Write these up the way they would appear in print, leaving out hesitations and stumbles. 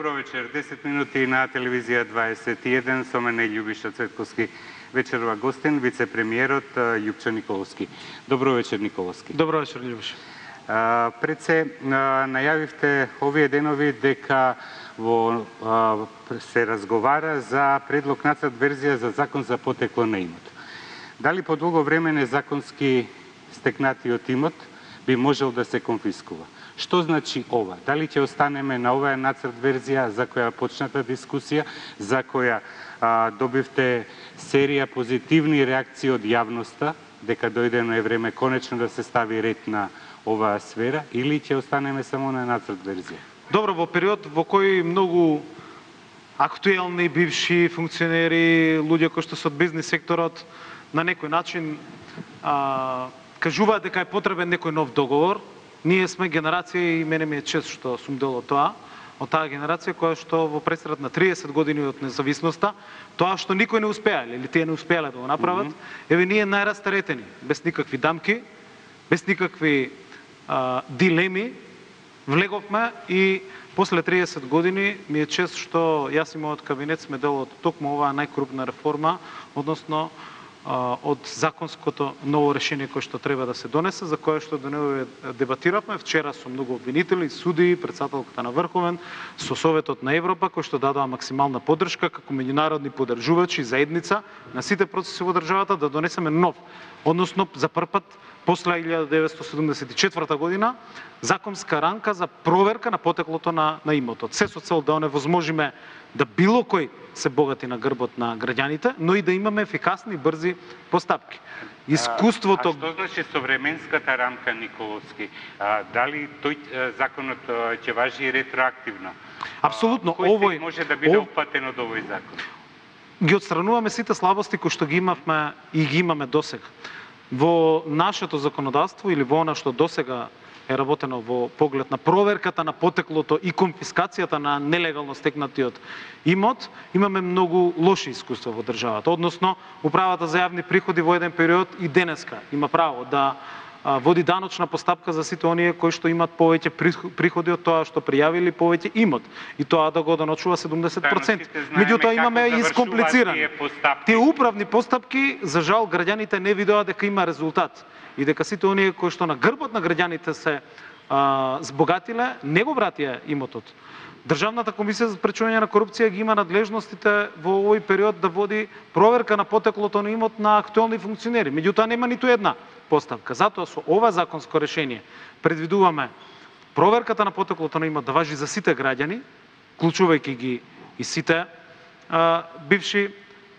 Добро вечер. 10 минути на телевизија 21 со мене Љубиша Цветковски. Вечерова гостин, вице-премиерот Јупчо Николовски. Добро вечер, Николовски. Добро вечер, Љубиша. Пред се најавивте овие денови дека се разговара за предлог нацрт верзија за закон за потекло на имот. Дали по долго време незаконски стекнатиот имот би можел да се конфискува? Што значи ова? Дали ќе останеме на оваа нацрт верзија за која почната дискусија, за која добивте серија позитивни реакции од јавноста, дека дојдено е време конечно да се стави ред на оваа сфера, или ќе останеме само на нацрт верзија? Добро, во период во кој многу актуелни бивши функционери, луѓе кои што се од бизнес секторот, на некој начин кажуваат дека е потребен некој нов договор. Ние сме генерација и мене ми е чест што сум дел од таа генерација која што во пресред на 30 години од независноста, тоа што никој не успеале или тие не успеале да го направат, еве ние најрастаретени, без никакви дамки, без никакви дилеми, влеговме и после 30 години ми е чест што јас и мојот кабинет сме дел од токму оваа најкрупна реформа, односно од законското ново решение кое што треба да се донесе, за кое што денева дебатиравме вчера со многу обвинители, судии, претседателката на Врховен, со Советот на Европа, кој што дадоа максимална поддршка како меѓународни поддржувачи, заедница на сите процеси во државата да донесеме нов, односно за прв пат после 1974 година законска рамка за проверка на потеклото на имотот. Се со цел да оневозможиме да било кој се богати на грбот на граѓаните, но и да имаме ефикасни и брзи постапки. Искуството... Што значи современската рамка, Николовски? Дали тој законот ќе важи ретроактивно? Апсолутно. Кој може да биде опатен од овој закон? Ги отстрануваме сите слабости кои што ги имавме и ги имаме досега. Во нашето законодавство или во она што досега е работено во поглед на проверката на потеклото и конфискацијата на нелегално стекнатиот имот, имаме многу лоши искуства во државата. Односно, Управата за јавни приходи во еден период и денеска има право да води даночна постапка за сите оние кои што имат повеќе приходи од тоа што пријавили повеќе имот. И тоа да го доночува 70%. Меѓутоа имаме и искомплицирани. Тие управни постапки, за жал, граѓаните не видоа дека има резултат. И дека сите оние кои што на грбот на граѓаните се збогатиле, не го вратија имотот. Државната комисија за спречување на корупција ги има надлежностите во овој период да води проверка на потеклото на имот на актуелни функционери. Меѓутоа нема ниту една поставка. Затоа со ова законско решение предвидуваме проверката на потеклото на имот да важи за сите граѓани, вклучувајќи ги и сите бивши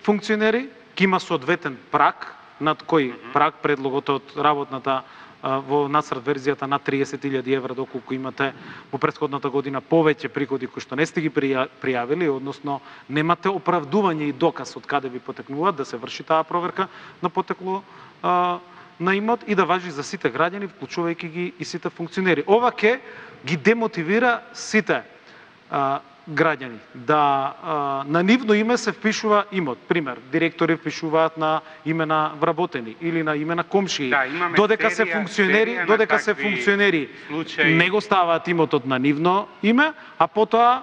функционери, ки има соодветен праг, над кој праг предлогот од работната во нацрт верзијата на 30.000 евра, доколку имате во претходната година повеќе приходи кои што не сте ги пријавили, односно немате оправдување и доказ од каде ви потекнуваат, да се врши таа проверка на потекло на имот и да важи за сите граѓани, вклучувајќи ги и сите функционери. Ова ќе ги демотивира сите граѓани да на нивно име се впишува имот. Пример, директори впишуваат на име на вработени или на име на комшии. Додека се функционери не го ставаат имотот на нивно име, а потоа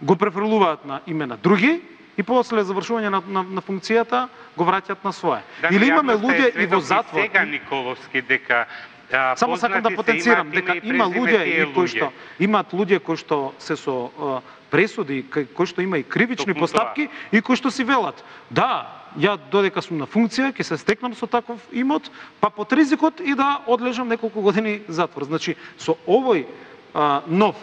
го префрлуваат на име на други и после завршување на функцијата го враќаат на свое. Или имаме луѓе и во затвор. Сега, Николовски, дека само сакам да потенцирам дека има луѓе кои што имаат луѓе кои што се со пресуди, кои што има и кривични постапки и кои што си велат: да, ја додека сум на функција ќе се стекнам со таков имот, па под ризикот и да одлежам неколку години затвор. Значи со овој нов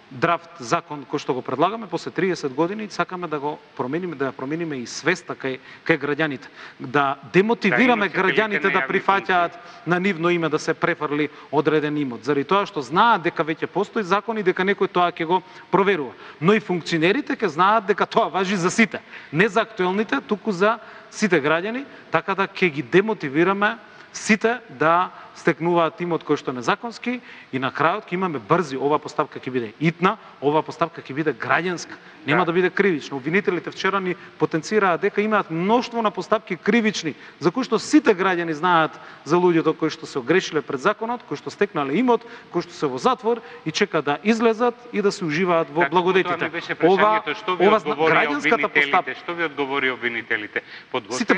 драфт закон кој што го предлагаме после 30 години сакаме да го промениме, да ја промениме и свеста кај граѓаните, да демотивираме граѓаните да прифаќаат на нивно име да се префрли одреден имот, заради тоа што знаат дека веќе постои закон и дека некој тоа ќе го проверува. Но и функционерите ќе знаат дека тоа важи за сите, не за актуелните, туку за сите граѓани, така да ќе ги демотивираме сите да стекнуваат имот кој што е незаконски и на крајот ќе имаме брзи, оваа постапка ќе биде итна, оваа постапка ќе биде граѓанска, нема да биде кривична. Обвинителите вчера ни потенцираат дека имаат мноштво на постапки кривични, за кои што сите граѓани знаат за луѓето кои што се огрешиле пред законот, кои што стекнале имот, кои што се во затвор и чека да излезат и да се уживаат во благодетите. Ова граѓанската постапка, што ви одговори обвинителите? Сите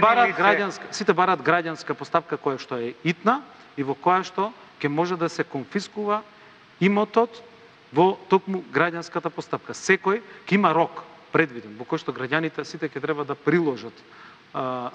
бараат граѓанска постапка која што е итна и во која што ќе може да се конфискува имотот во токму граѓанската постапка. Секој ќе има рок предвиден во кој што граѓаните сите ќе треба да приложат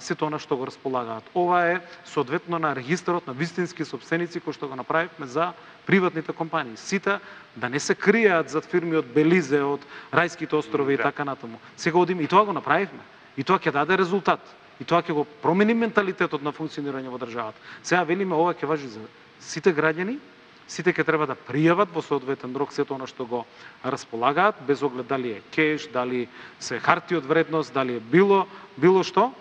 сето она што го располагаат. Ова е соодветно на регистарот на вистински сопственици кој што го направивме за приватните компании. Сите да не се кријаат зад фирми од Белизе, од Рајските острови и така натаму. Сега одиме и тоа го направивме. И тоа ќе даде резултат. И тоа ќе го промени менталитетот на функционирање во државата. Сега велиме ова ќе важи за сите граѓани, сите ќе треба да пријават во соодветен рок сето она што го располагаат, без оглед дали е кеш, дали се харти од вредност, дали е било што.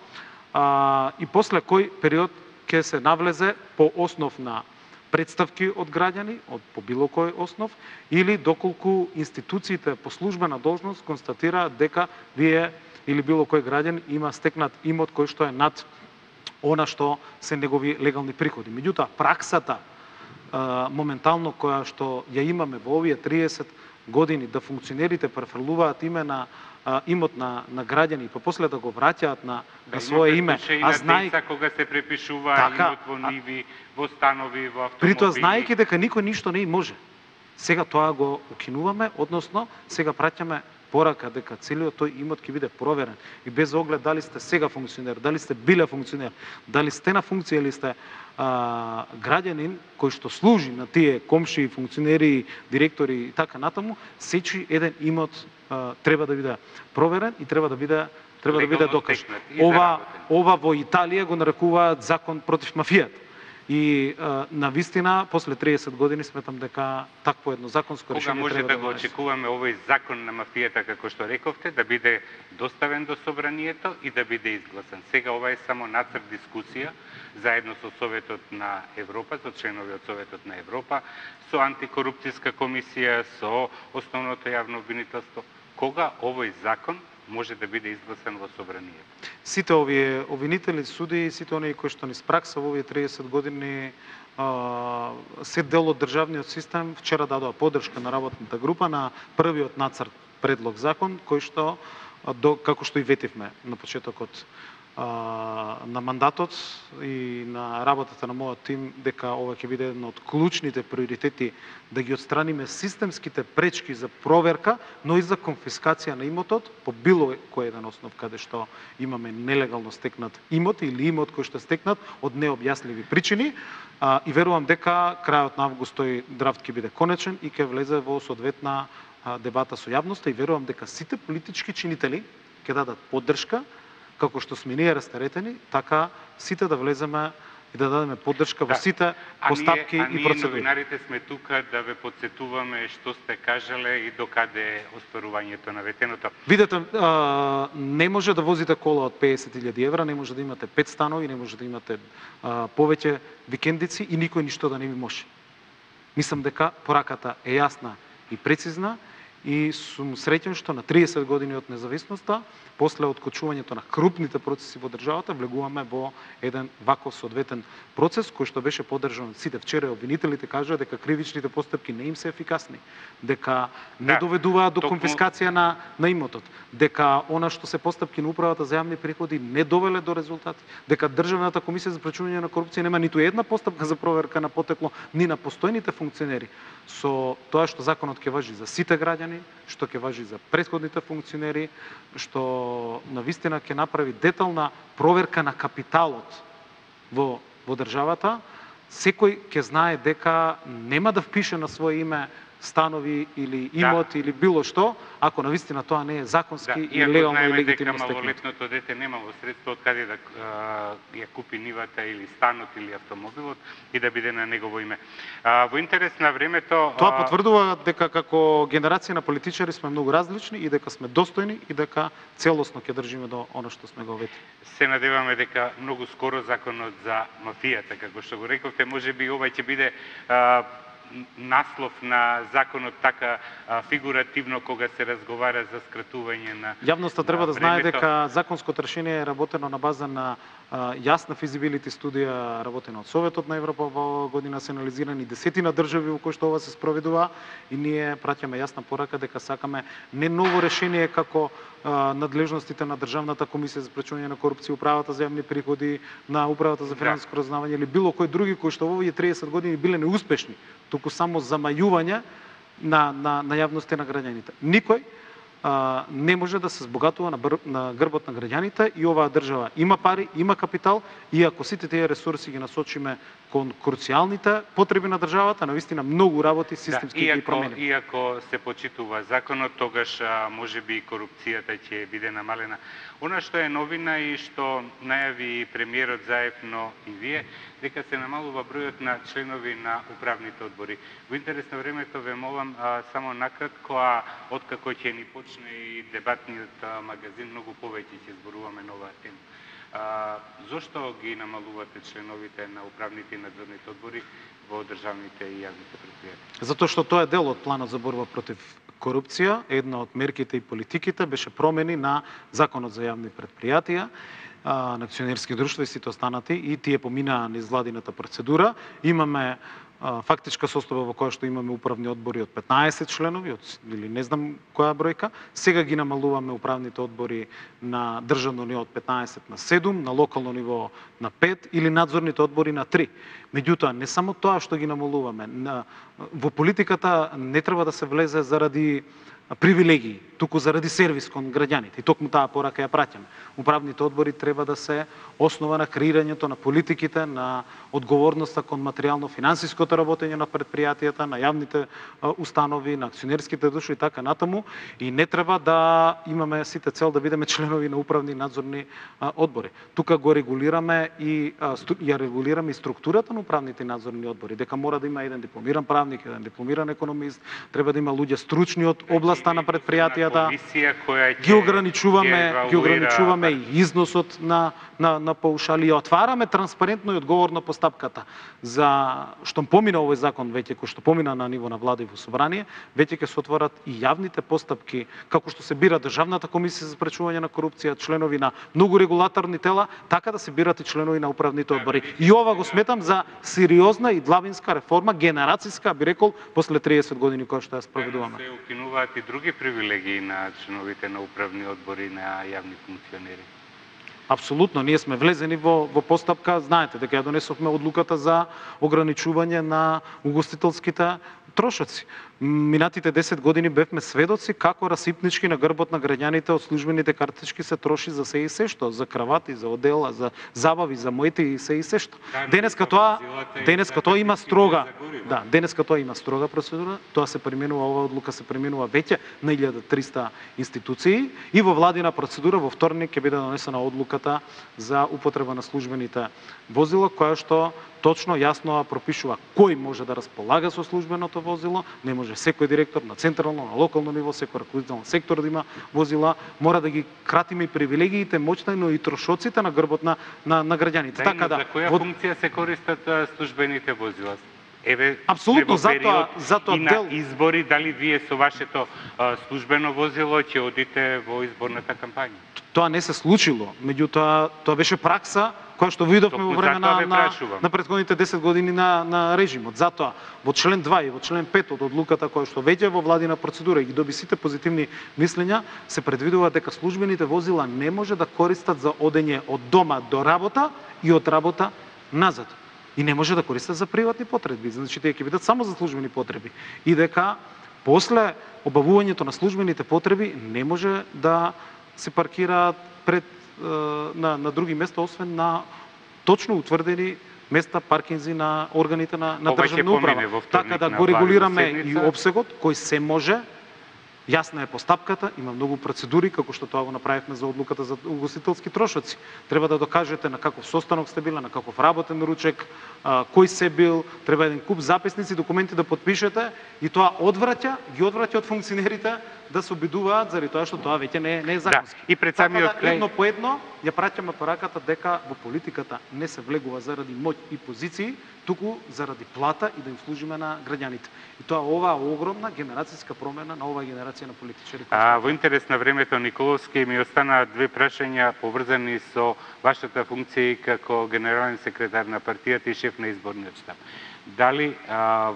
И после кој период ќе се навлезе по основ на представки од граѓани, по било кој основ, или доколку институциите по службена должност констатираат дека вие или било кој граѓан има стекнат имот кој што е над она што се негови легални приходи. Меѓутоа, праксата моментално која што ја имаме во овие 30 години да функционерите префрлуваат име на имот на граѓани и после да го враќаат на свое име, а знаејќи кога се препишува имот во ниви, во станови, во автомобили. Притоа знаејќи дека никој ништо не може. Сега тоа го укинуваме, односно сега праќаме порака дека целиот тој имот ќе биде проверен и без оглед дали сте сега функционер, дали сте биле функционер, дали сте на функција или сте граѓанин кој што служи на тие комши, функционери, директори и така натаму, сечи еден имот треба да биде проверен и треба да биде докажан. Ова во Италија го нарекуваат закон против мафијата. И навистина, после 30 години сметам дека такво едно законско решение треба да може да го очекуваме овој закон на мафијата, како што рековте, да биде доставен до собранието и да биде изгласан. Сега ова е само нацрт дискусија, заедно со Советот на Европа, со членови од Советот на Европа, со антикорупцијска комисија, со основното јавно обвинителство. Кога овој закон може да биде изгласан во собранието? Сите овие обвинители, суди, сите оние кои што ни спракса во овие 30 години се дел од државниот систем, вчера дадоа поддршка на работната група на првиот нацрт предлог закон, кој што, како што и ветивме на почетокот на мандатот и на работата на мојот тим, дека ова ќе биде едно од клучните приоритети да ги отстраниме системските пречки за проверка, но и за конфискација на имотот по било кој еден основ каде што имаме нелегално стекнат имот или имот кој што е стекнат од необјасливи причини. И верувам дека крајот на август тој драфт ќе биде конечен и ќе влезе во соодветна дебата со јавноста и верувам дека сите политички чинители ќе дадат поддршка, како што сме ние растаретени, така сите да влеземе и да дадеме поддршка во сите постапки и процедури. Ние новинарите сме тука да ве потсетуваме што сте кажале и докаде е остварувањето на ветеното. Видете, не може да возите кола од 50.000 евра, не може да имате 5 станови, не може да имате повеќе викендици и никој ништо да не ви може. Мислам дека пораката е јасна и прецизна и сум среќен што на 30 години од независноста, после откочувањето на крупните процеси во државата, влегуваме во еден ваков соодветен процес кој што беше поддржан од сите. Вчера обвинителите кажаа дека кривичните постапки не им се ефикасни, дека не доведуваат до конфискација на имотот, дека она што се постапки на управата за јавни приходи не довеле до резултати, дека Државната комисија за спречување на корупција нема ниту една постапка за проверка на потекло ни на постојните функционери. Со тоа што законот ќе важи за сите граѓани, што ќе важи за претходните функционери, што навистина ќе направи детална проверка на капиталот во државата, секој ќе знае дека нема да впише на свое име станови или имот или било што, ако навистина тоа не е законски и легално и легитимно стекнато. Малолетното дете немало средства од каде да ја купи нивата или станот или автомобилот и да биде на негово име. Во интерес на времето тоа потврдува дека како генерација на политичари сме многу различни и дека сме достојни и дека целосно ќе држиме до она што сме го ветили. Се надеваме дека многу скоро законот за мафијата, како што го рековте, можеби ова ќе биде наслов на законот така фигуративно кога се разговара за скратување на Јавноста треба да знае дека законското решение е работено на база на јасна физибилити студија работена од Советот на Европа. Во година се анализирани десетина држави во кои што ова се спроведува и ние праќаме јасна порака дека сакаме не ново решение како надлежностите на Државната комисија за спречување на корупција, управата за јавни приходи, на управата за финансиско разузнавање или било кои други кои што во овие 30 години биле неуспешни, туку само замајување на јавноста и на граѓаните. Никој не може да се збогатува на грбот на граѓаните и оваа држава има пари, има капитал и ако сите тие ресурси ги насочиме кон круцијалните потреби на државата, навистина многу работи системски ги промени. Иако се почитува законот, тогаш можеби корупцијата ќе биде намалена. Она што е новина и што најави премиерот заедно и вие, дека се намалува бројот на членови на управните одбори. Во интерес на времето ве молам само накратко, откако ќе ни почне и дебатниот магазин, многу повеќе ќе зборуваме на оваа тема. Зошто ги намалувате членовите на управните и надзорните одбори во државните и јавните претпријатија? Затоа што тоа е дел од планот за борба против корупција. Една од мерките и политиките беше промени на Законот за јавни претпријатија, на акционерски друштва и сите останати, и тие поминаа низ владината процедура. Имаме фактичка состојба во која што имаме управни одбори од 15 членови, или не знам која бројка. Сега ги намалуваме управните одбори на државно ниво од 15 на 7, на локално ниво на 5 или надзорните одбори на 3. Меѓутоа, не само тоа што ги намалуваме. Во политиката не треба да се влезе заради привилегии, туку заради сервис кон граѓаните. И токму таа порака ја праќаме. Управните одбори треба да се основа на креирањето на политиките, на одговорноста кон материјално-финансиското работење на предпријатијата, на јавните установи, на акционерските друштва и така натаму. И не треба да имаме сите цел да бидеме членови на управни и надзорни одбори. Тука го регулираме и ја регулираме и структурата на управните и надзорни одбори, дека мора да има еден дипломиран правник, еден дипломиран економист, треба да има луѓе стручни од областа на предпријатијата. Ги ограничуваме и износот на паушали, ја отвараме транспарентно и одговорно постапката. За што помина овој закон веќе, кој што помина на ниво на влада и во собрание, веќе ќе се отворат и јавните постапки, како што се бира Државната комисија за спречување на корупција, членови на многу регулаторни тела, така да се бират и членови на управните одбори. И ова го сметам за сериозна и длабинска реформа, генерацијска, би рекол, после 30 години која што ја спроведуваме. Се укинуваат и други привилегии на членовите на управни одбори на јавни функционери. Апсолутно, ние сме влезени во постапка, знаете дека ја донесовме одлуката за ограничување на угостителските трошоци. Минатите 10 години бевме сведоци како расипнички на грбот на граѓаните од службените картички се троши за се и се што, за кравати, за одела, за забави, за моите и се и се што. Денеска тоа има строга, денеска тоа има строга процедура, тоа се применува, ова одлука се применува веќе на 1300 институции и во владина процедура во вторник ќе биде донесена одлуката за употреба на службените возила, која што точно јасно пропишува кој може да располага со службеното возило. Не може секој директор на централно, на локално ниво, секој раководител на сектор да има возила. Мора да ги кратиме и привилегиите, моќта, но и трошоците на грбот на граѓаните. Така да, за која функција се користат службените возила? Апсолутно, затоа и на избори, дали вие со вашето службено возило ќе одите во изборната кампања? Тоа не се случило, меѓутоа тоа беше пракса која што видовме во време на претходните 10 години на режимот. Затоа во член 2 и во член 5 од одлуката која што веќе во владина процедура и ги доби сите позитивни мислења, се предвидува дека службените возила не може да користат за одење од дома до работа и од работа назад. И не може да користат за приватни потреби. Значи тие ќе бидат само за службени потреби. И дека после обавувањето на службените потреби не може да се паркираат пред на други места, освен на точно утврдени места паркинзи на органите на Ова ќе државна управа. помине во вторник Така да на го регулираме главна и седница. опсегот кој се може. Јасна е постапката, има многу процедури, како што тоа го направивме за одлуката за угостителски трошоци. Треба да докажете на каков состанок сте била, на каков работен ручек, кој се бил, треба еден куп записници, документи да подпишете и тоа ги одвраќа од функционерите да се обидуваат заради тоа што тоа веќе не е законски. Да, и пред самиот Така да, крај едно по едно ја праќаме пораката дека во политиката не се влегува заради моќ и позиции, туку заради плата и да им служиме на граѓаните. И тоа оваа огромна генерацијска промена на оваа генерација на политичари. Во интерес на времето, Николовски, ми останаа две прашања поврзани со вашата функција и како генерален секретар на партијата и шеф на изборниот штаб. Дали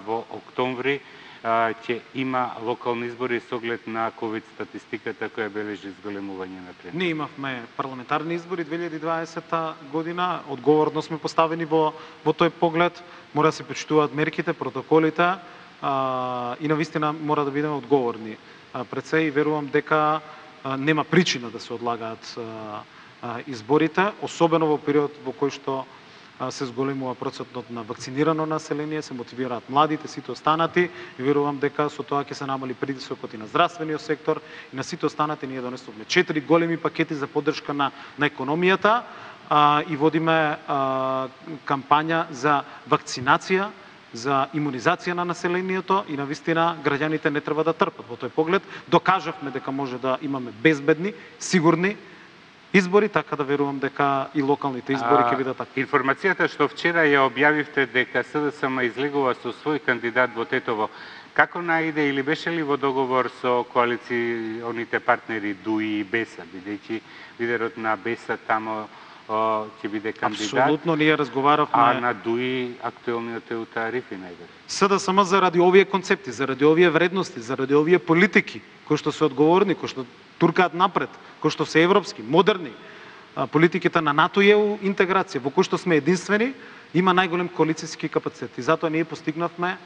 во октомври ќе има локални избори со оглед на ковид статистиката која бележи зголемување на трендот? Ние имавме парламентарни избори 2020 година, одговорно сме поставени во тој поглед, мора да се почитуваат мерките, протоколите и навистина мора да бидеме одговорни пред се и верувам дека нема причина да се одлагаат изборите, особено во период во кој што се зголемува процентот на вакцинирано население, се мотивираат младите, сите останати и верувам дека со тоа ќе се намали притисокот и на здравствениот сектор и на сите останати. Ние донесовме 4 големи пакети за поддршка на економијата и водиме кампања за вакцинација, за имунизација на населението и навистина граѓаните не треба да трпат. Во тој поглед докажавме дека може да имаме безбедни, сигурни избори, така да верувам дека и локалните избори ќе бидат така. Информацијата што вчера ја објавивте дека СДСМ излегува со свој кандидат во Тетово, како наиде или беше ли во договор со коалиционите партнери ДУИ и БЕСА, бидејќи лидерот на БЕСА тамо ќе биде кандидат? Апсолутно, ние разговаравме. А на ДУИ актуелниот е Еута Арифи најверојатно. СДСМ заради овие концепти, заради овие вредности, заради овие политики кои што се одговорни, кои што туркаат напред, кои што се европски, модерни, политиките на НАТО и ЕУ интеграција, во кои што сме единствени, има најголем коалицијски капацитет. И затоа ние постигнавме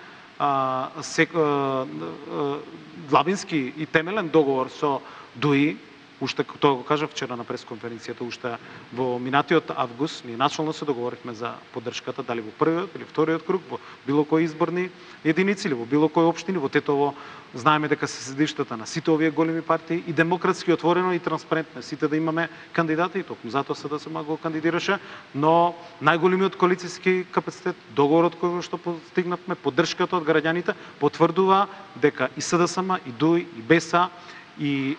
длабински и темелен договор со ДУИ, уште тоа го кажав вчера на пресконференцијата, уште во минатиот август, ние начално се договоривме за поддршката, дали во првиот или вториот круг, во било кои изборни единици или во било кои општини. Во Тетово знаеме дека се седиштата на сите овие големи партии и демократски отворено и транспарентно сите да имаме кандидати, и токму затоа СДСМ го кандидираше, но најголемиот коалицијски капацитет, договорот кој што постигнавме, поддршката од граѓаните потврдува дека и СДСМ, и ДУИ, и БЕСА, и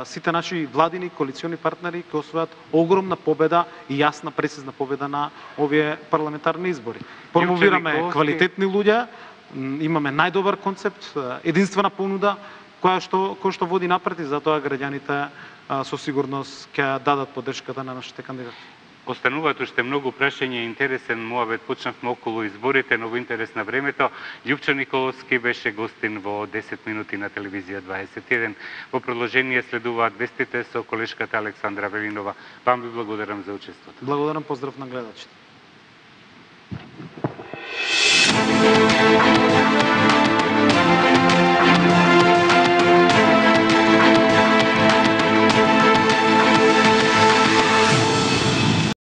сите наши владини коалициони партнери ќе освојат огромна победа и јасна прецизна победа на овие парламентарни избори. Промовираме квалитетни луѓе, имаме најдобар концепт, единствена понуда која што води напред и затоа граѓаните со сигурност ќе дадат поддршката на нашите кандидати. Остануваат уште многу прашања, интересен муабет почнавме околу изборите, но во интерес на времето. Љупчо Николовски беше гостин во 10 минути на телевизија 21. Во продолжение следуваат вестите со колешката Александра Велинова. Вам ви благодарам за учеството. Благодарам, поздрав на гледачите.